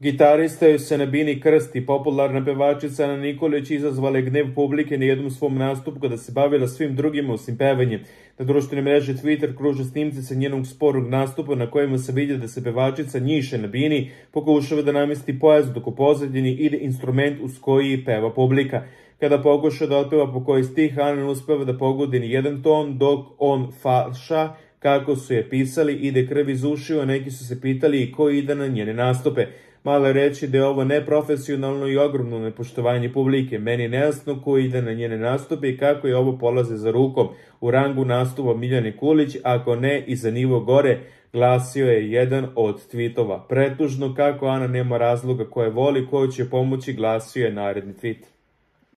Gitarista joj se na bini krsti, popularna pevačica Ana Nikolić izazvala je gnev publike na jednom svom nastupu kada se bavila svim drugima osim pevanjem. Na društvenoj mreži Twitter kruže snimci sa njenog sporog nastupa na kojima se vidi da se pevačica njiše na bini, pokušava da namesti pojas dok u pozadini ide instrument uz koji peva publika. Kada pokuša da otpeva po koji stih, Ana ne uspeva da pogodi ni jedan ton, dok on falša, kako su je pisali, ide krv iz ušiju, a neki su se pitali i ko ide na njene nastupe. Malo je reći da je ovo neprofesionalno i ogromno nepoštovanje publike. Meni je nejasno ko ide na njene nastupe i kako je ovo polaze za rukom. U rangu nastupa Miljane Kulić, ako ne i za nivo gore, glasio je jedan od tweetova. Pretužno kako Ana nema razloga koje voli, koju će pomoći, glasio je naredni tweet.